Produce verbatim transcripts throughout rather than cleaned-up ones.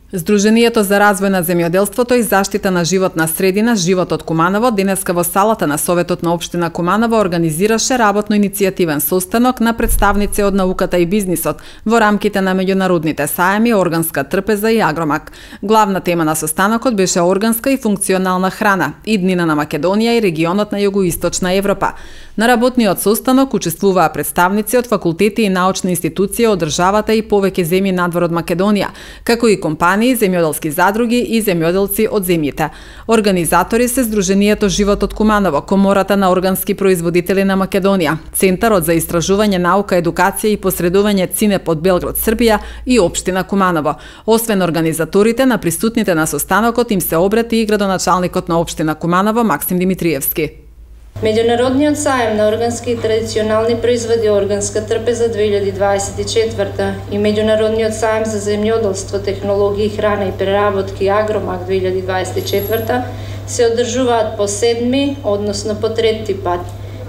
Здруженијето за развој на земјоделството и заштита на животна средина Животот Куманово денеска во салата на Советот на општина Куманово организираше работно-иницијативен состанок на представници од науката и бизнисот во рамките на меѓународните сајми Органска трпеза и Агромак. Главна тема на состанокот беше органска и функционална храна, иднина на Македонија и регионот на Југоисточна Европа. На работниот состанок учествуваа представници од факултети и научни институции од државата и повеќе земји надвор од Македонија, како и компании, земјоделски задруги и земјоделци од земјите. Организатори се Здруженијето Животот Куманово, Комората на органски производители на Македонија, Центарот за истражување, наука, едукација и посредување ЦИНЕП од Белград, Србија и општина Куманово. Освен организаторите, на присутните на состанокот им се обрати и градоначалникот на општина Куманово Максим Димитриевски. Меѓународниот сајм на органски и традиционални производи Органска трпеза две илјади дваесет и четврта и Меѓународниот сајм за земјоделство, технологии, храна и преработки Агромак две илјади дваесет и четврта се одржуваат по седми, односно по трети пат.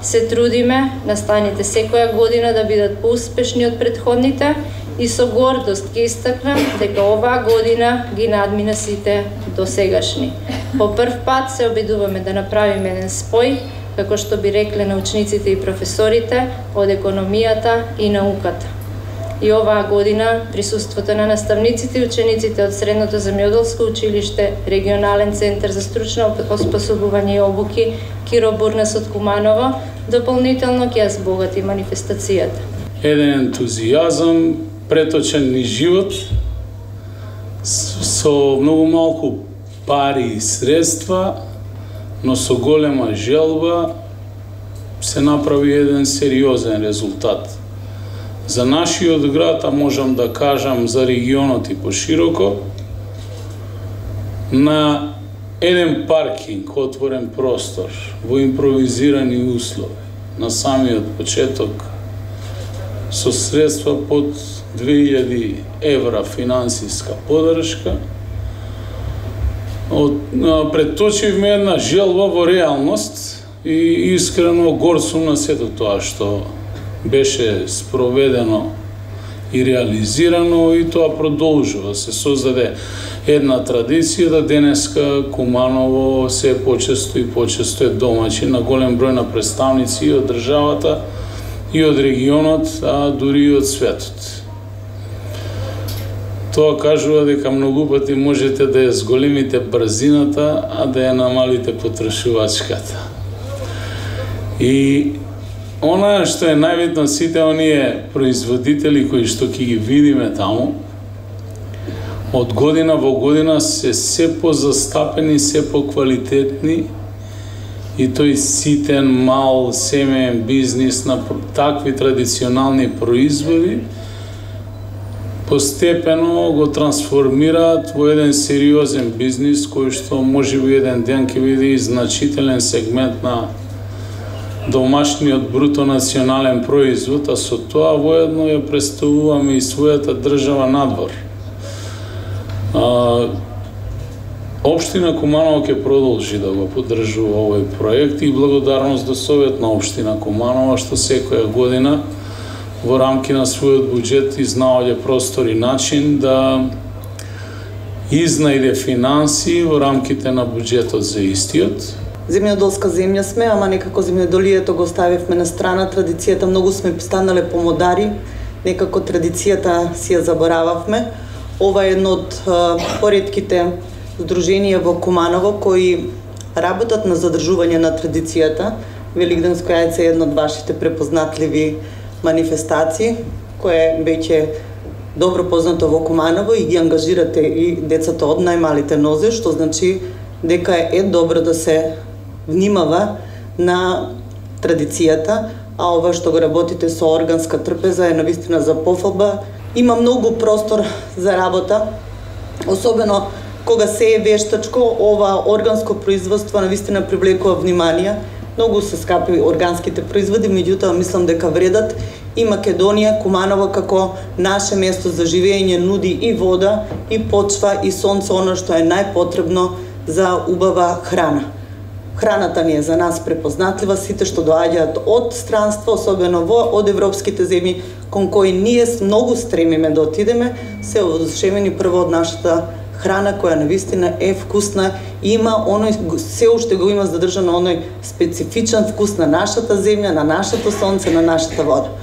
Се трудиме настаните секоја година да бидат поуспешни од претходните и со гордост ќе истакнам дека оваа година ги надмина сите досегашни. По прв пат се обидуваме да направиме еден спој, како што би рекле научниците и професорите од економијата и науката. И оваа година присуството на наставниците и учениците од Средното земјоделско училиште, Регионален центар за стручно оспособување и обуки Киро Бурнас од Куманово дополнително ќе ја збогати манифестацијата. Еден ентузијазам, преточен низ живот, со многу малку пари и средства, но со голема желба се направи еден сериозен резултат. За нашиот град, а можам да кажам за регионот и пошироко, на еден паркинг, отворен простор, во импровизирани услови, на самиот почеток, со средства под две илјади евра финансиска подршка, преточивме една желба во реалност и искрено горд сум на сето тоа што беше спроведено и реализирано и тоа продолжува. Се создаде една традиција да денеска Куманово се почесто и почесто е домаќин на голем број на представници и од државата и од регионот, а дури и од светот. Тоа кажува дека многу пати можете да ја зголемите брзината, а да ја намалите потрошувачката. И она што е најбитно, сите оние производители кои што ќе ги видиме таму, од година во година се се позастапени, се поквалитетни и тој ситен, мал, семеен бизнис на такви традиционални производи постепено го трансформираат во еден сериозен бизнис кој што можеби еден ден ќе биде и значителен сегмент на домашниот бруто национален производ, а со тоа воедно ја представуваме и својата држава надвор. А, Општина Куманово ќе продолжи да го поддржува овој проект и благодарност до Совет на општина Куманово што секоја година во рамки на својот буџет изнаоѓа простор и начин да изнајде финанси во рамките на буџетот за истиот. Земјоделска земја сме, ама некако земјоделието го ставивме на страна, традицијата многу сме станале помодари, некако традицијата си ја заборававме. Ова е едно од поредките здруженија во Куманово кои работат на задржување на традицијата. Великденско јајце е едно од вашите препознатливи манифестации, кое веќе добро познато во Куманово и ги ангажирате и децата од најмалите нозе, што значи дека е добро да се внимава на традицијата, а ова што го работите со Органска трпеза е навистина за пофалба. Има многу простор за работа, особено кога се е вештачко, ова органско производство навистина привлекува внимание. Многу се скапи органските производи, меѓутоа мислам дека вредат и Македонија, Куманово како наше место за живење нуди и вода, и почва, и сонце, оно што е најпотребно за убава храна. Храната ни е за нас препознатлива, сите што доаѓаат од странство, особено во од европските земји, кон кои ние многу стремиме да отидеме, се одушевени прво од нашата храна која навистина е вкусна, има оној, се уште го има задржано оној специфичен вкус на нашата земја, на нашето сонце, на нашата вода.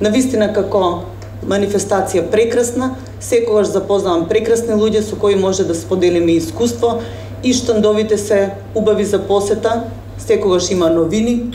Навистина како манифестација прекрасна, секогаш запознавам прекрасни луѓе со кои може да споделиме искуство и штандовите се убави за посета, секогаш има новини.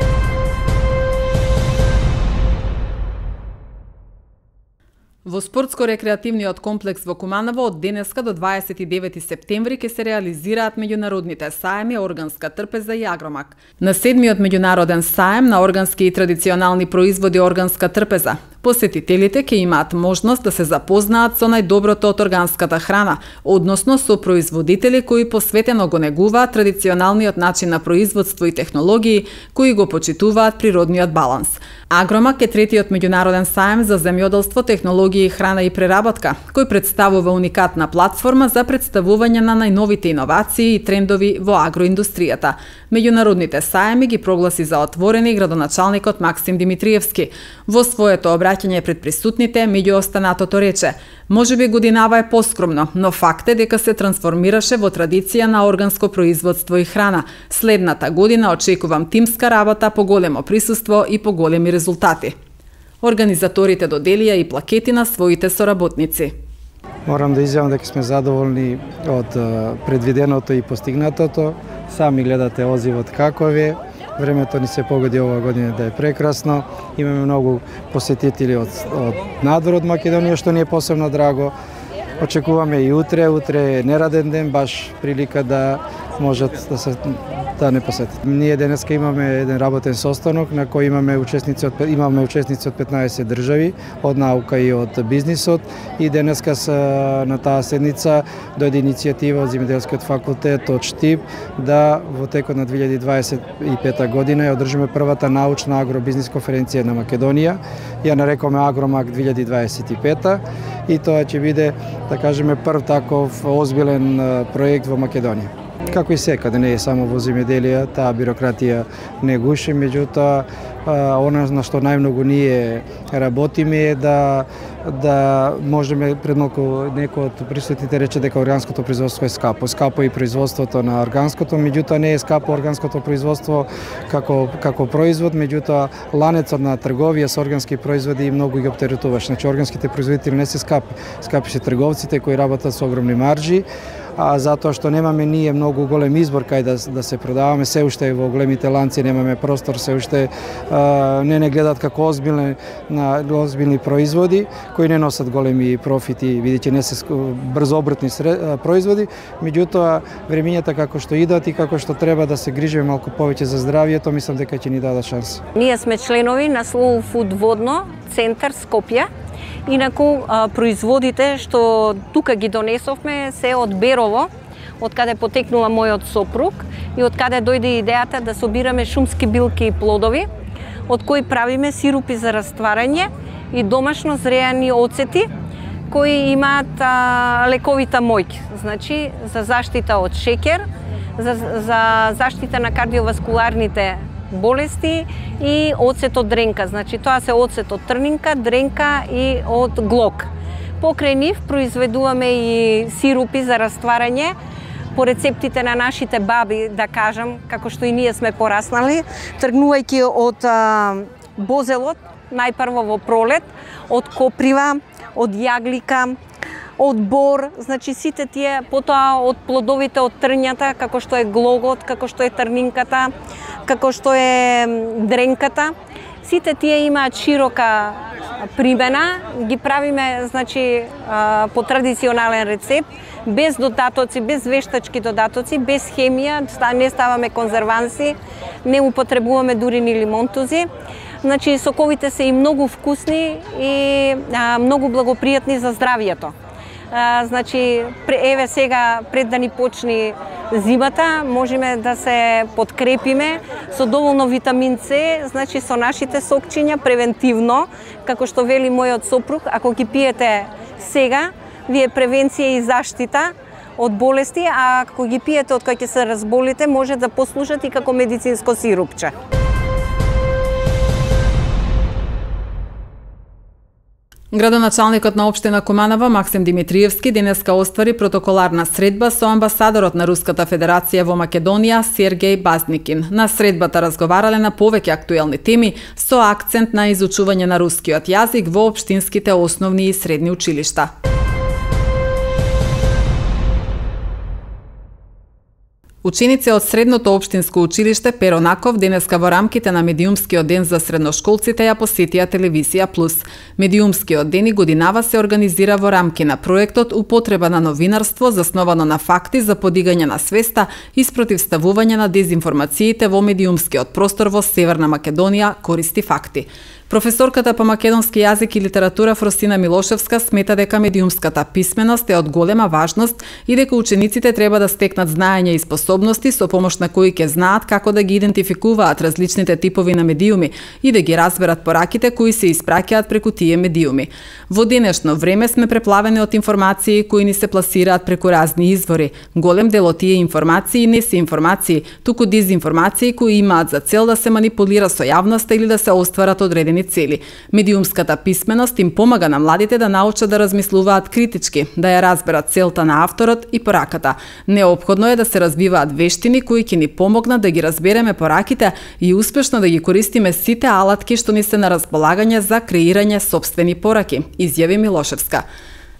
Во спортско-рекреативниот комплекс во Куманово од денеска до дваесет и девети септември ќе се реализираат меѓународните саеми Органска трпеза и Агромак. На седмиот меѓународен саем на органски и традиционални производи Органска трпеза посетителите ќе имаат можност да се запознаат со најдоброто од органската храна, односно со производители кои посветено го негуваат традиционалниот начин на производство и технологии кои го почитуваат природниот баланс. Агромак е третиот меѓународен саем за земјоделство, технологии, храна и преработка, кој представува уникатна платформа за представување на најновите иновации и трендови во агроиндустријата. Меѓународните саеми ги прогласи за отворени градоначалникот Максим Димитриевски. Во своето обраќање пред присутните, меѓу останатото рече: "Можеби годинава е поскромно, но факт е дека се трансформираше во традиција на органско производство и храна. Следната година очекувам тимска работа, поголемо присуство и поголеми резултати." Организаторите доделија и плакети на своите соработници. Морам да изјавам дека сме задоволни од предвиденото и постигнатото. Сами гледате озивот каков е. Времето ни се погоди ова година да е прекрасно. Имаме многу посетители од, од надвор од Македонија, што ни е посебно драго. Очекуваме и утре, утре е нераден ден, баш прилика да можат да се да не посетат. Ние денеска имаме еден работен состанок на кој имаме учесници од имаме учесници од петнаесет држави, од наука и од бизнисот, и денеска на таа седница дојде иницијатива од Земјоделскиот факултет од Штип да во текот на две илјади дваесет и пета година ја одржиме првата научна агробизнис конференција на Македонија. Ја нарекоме Агромак две илјади дваесет и пета и тоа ќе биде, да кажеме, прв таков озбилен проект во Македонија. Како и секаде, не е само во земјоделие, таа бирократија не гуши, меѓутоа она на што најмногу ние работиме е да да можеме, пред малку некој од присутните рече дека органското производство е скапо. Скапо и производството на органското, меѓутоа не е скапо органското производство како како производ, меѓутоа ланецот на трговија со органски производи многу ги оптеретуваш. Значи органските производители не се скапи, скапи се трговците кои работат со огромни маржи. А затоа што немаме ние многу голем избор кај да, да се продаваме, се уште во големите ланци немаме простор, се уште а, не не гледат како озбилни на озбилни производи кои не носат големи профити, бидејќи не се брзообртни производи, меѓутоа времињата како што идат и како што треба да се грижиме малку повеќе за здравјето, мислам дека ќе ни дадат шанса. Ние сме членови на Slow Food Водно центар Скопје. Инаку производите што тука ги донесовме се од Берово, од каде потекнува мојот сопруг и од каде дојде идејата да собираме шумски билки и плодови, од кои правиме сирупи за растварање и домашно зреани оцети кои имаат а, лековита моќ, значи за заштита од шеќер, за, за заштита на кардиоваскуларните болести и оцет од дренка. Значи тоа се оцет од трнинка, дренка и од глок. Покрај нив произведуваме и сирупи за растварање по рецептите на нашите баби, да кажам, како што и ние сме пораснали, тргнувајќи од а, бозелот, најпрво во пролет, од коприва, од јаглика, од бор, значи сите тие, потоа од плодовите од трњата, како што е глогот, како што е трнинката, како што е дренката. Сите тие имаат широка примена, ги правиме, значи, по традиционален рецепт, без додатоци, без вештачки додатоци, без хемија, не ставаме конзерванси, не употребуваме дури ни лимонтузи. Значи, соковите се и многу вкусни и а, многу благопријатни за здравјето. А, значи, еве сега, пред да ни почни зимата, можеме да се подкрепиме со доволно витамин С, значи со нашите сокчиња превентивно, како што вели мојот сопруг, ако ги пиете сега, вие превенција и заштита од болести, а ако ги пиете од кога ќе се разболите, може да послужат и како медицинско сирупче. Градоначалникот на општина Куманово Максим Димитриевски денеска оствари протоколарна средба со амбасадорот на Руската Федерација во Македонија Сергеј Базникин. На средбата разговарале на повеќе актуелни теми со акцент на изучување на рускиот јазик во општинските основни и средни училишта. Ученици од Средното општинско училиште Перо Наков денеска во рамките на медиумскиот ден за средношколците ја посетија Телевизија Плюс. Медиумскиот ден и годинава се организира во рамки на проектот Употреба на новинарство засновано на факти за подигање на свеста и спротивставување на дезинформациите во медиумскиот простор во Северна Македонија користи факти. Професорката по македонски јазик и литература Фросина Милошевска смета дека медиумската писменост е од голема важност и дека учениците треба да стекнат знаење и способности со помош на кои ќе знаат како да ги идентификуваат различните типови на медиуми и да ги разберат пораките кои се испраќаат преку тие медиуми. Во денешно време сме преплавени од информации кои ни се пласираат преку разни извори. Голем дел од тие информации не се информации, туку дезинформации кои имаат за цел да се манипулира со јавноста или да се остварат одредени цели. Медиумската писменост им помага на младите да научат да размислуваат критички, да ја разберат целта на авторот и пораката. Неопходно е да се развиваат вештини кои ќе ни помогнат да ги разбереме пораките и успешно да ги користиме сите алатки што ни се на располагање за креирање сопствени пораки, изјави Милошевска.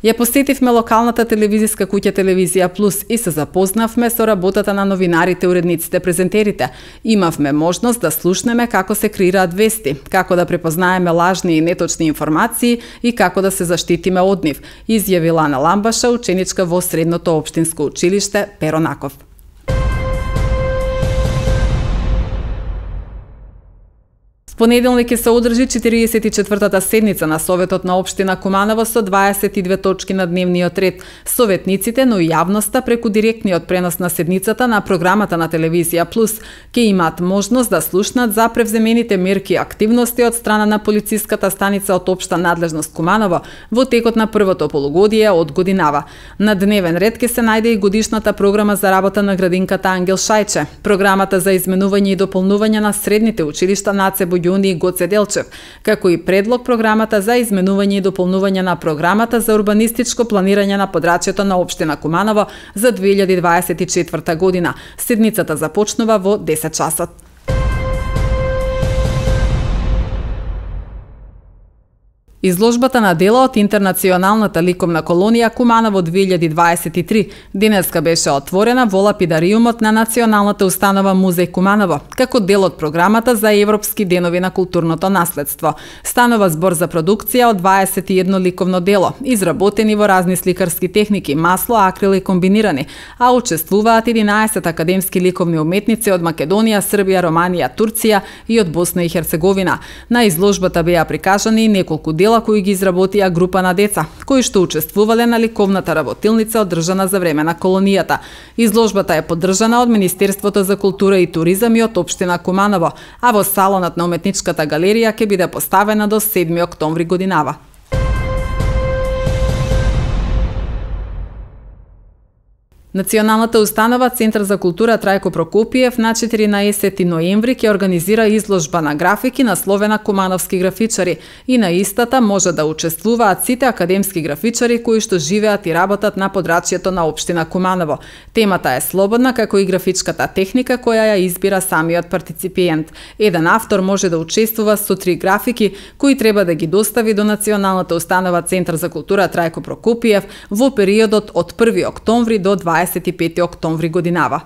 Ја посетивме локалната телевизиска куќа Телевизија Плюс и се запознавме со работата на новинарите, уредниците, презентерите. Имавме можност да слушнеме како се креираат вести, како да препознаеме лажни и неточни информации и како да се заштитиме од нив, изјавила Ана Ламбаша, ученичка во Средното општинско училиште Перо Наков. Понеделник ќе се одржи четириесет и четвртата седница на Советот на општина Куманово со дваесет и две точки на дневниот ред. Советниците, но и јавноста преку директниот пренос на седницата на програмата на Телевизија Плюс ќе имаат можност да слушнат за превземените мерки и активности од страна на полициската станица од општа надлежност Куманово во текот на првото полугодие од годинава. На дневен ред ќе се најде и годишната програма за работа на градинката Ангел Шајче, програмата за изменување и дополнување на средните училишта Наце Јуни и Гоце Делчев, како и предлог програмата за изменување и дополнување на програмата за урбанистичко планирање на подрачјето на општина Куманово за две илјади дваесет и четврта година. Седницата започнува во десет часот. Изложбата на дела од интернационалната ликовна колонија Куманово две илјади дваесет и три денеска беше отворена во лапидариумот на Националната установа Музеј Куманово, како дел од програмата за Европски денови на културното наследство. Станува збор за продукција од дваесет и едно ликовно дело, изработени во разни сликарски техники, масло, акрил и комбинирани, а учествуваат единаесет академски ликовни уметници од Македонија, Србија, Романија, Турција и од Босна и Херцеговина. На изложбата беа прикажани и неколку дела кои ги изработија група на деца, кои што учествувале на ликовната работилница одржана за време на колонијата. Изложбата е поддржана од Министерството за култура и туризам и од општина Куманово, а во салонот на уметничката галерија ќе биде поставена до седми октомври годинава. Националната установа Центар за култура Трајко Прокопиев на четиринаесети ноември ќе организира изложба на графики насловена Кумановски графичари и на истата може да учествуваат сите академски графичари кои што живеат и работат на подрачјето на општина Куманово. Темата е слободна како и графичката техника која ја избира самиот партиципиент. Еден автор може да учествува со три графики кои треба да ги достави до Националната установа Центар за култура Трајко Прокопиев во периодот од први октомври до дваесет и пети октомври годинава.